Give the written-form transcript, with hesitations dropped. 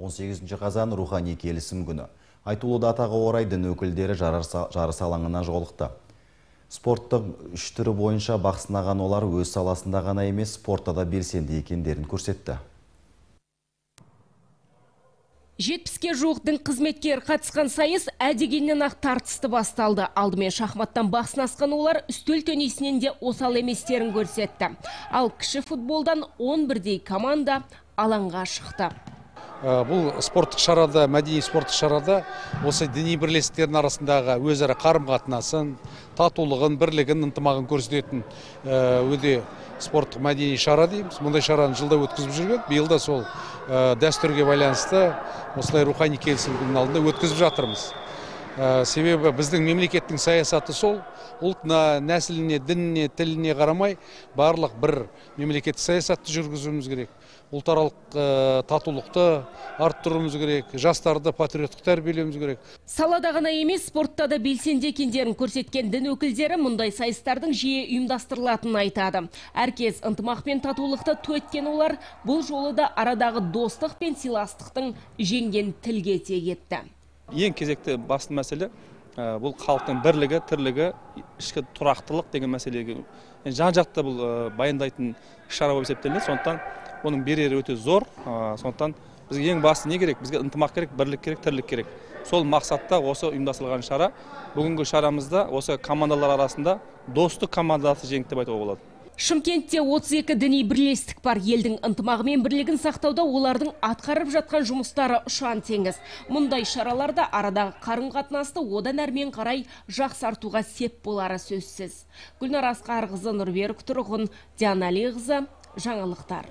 18 қазан рухани келісім күні. Айтулы датаға орай дін өкілдері жарыс алаңына жолықты. Спорттың үш түрі бойынша бақ сынаған олар өз саласында ғана емес, спортта да белсенді екендерін көрсетті. 70-ке жуық дін қызметкер қатысқан сайыс әдегеннен ақ тартысты басталды. Алдымен шахматтан бақ сынасқан олар үстел теннисінен де осал еместерін көрсетті. Ал кіші футболдан 11-дей команда алаңға шықты. Бұл спорттық шарада, мәдени спорттық шарада осы діни бірлестіктердің арасындағы өзара қарым-қатынасын, татулығын, бірлігін, ынтымағын көрсететін өте спорттық мәдени шара дейміз. Мұндай шараны жылда өткізіп жүрген. Биыл да сол дәстүрге байланысты осылай рухани келісім күнінің алдында өткізіп жатырмыз. Себебі біздің мемлекеттің саясаты сол, ұлтына, нәсіліне, дініне, тіліне қарамай барлық бір мемлекеттік саясатты жүргізуіміз керек. Ұлтаралық татулықты арттыруымыз керек, жастарды патриоттық тәрбиелеуіміз керек. Салада ғана емес, спортта да белсенді екендерін көрсеткен дін өкілдері мұндай сайыстардың жиі ұйымдастырылатынын айтады. Әркез ынтымақ пен татулықты ту еткен олар бұл жолы да арадағы достық пен сыйластықтың жеңген тілге тиек етті. Ең кезекті басты мәселе бұл халықтың бірлігі, тірлігі, ішкі тұрақтылық деген мәселеге жан-жақты бұл баяндайтын шара болып есептелінеді. Сондықтан оның берері өте зор. Сондықтан бізге ең басты не керек? Бізге ынтымақ керек, бірлік керек, тірлік керек. Сол мақсатта осы ұйымдастырылған шара. Бүгінгі шарамызда осы командалар арасында достық командасы жеңді деп айтуға болады. Шымкентте 32 діни бірлестік бар. Елдің ынтымағы мен бірлігін сақтауда олардың атқарып жатқан жұмыстары ұшан теңіз. Мұндай шараларда арадағы қарым-қатынасты одан әрмен қарай жақсартуға сеп болары сөзсіз. Гүлнар Асқарқызы, Нұрберік Тұрғын, Диана Алиқызы, жаңалықтар.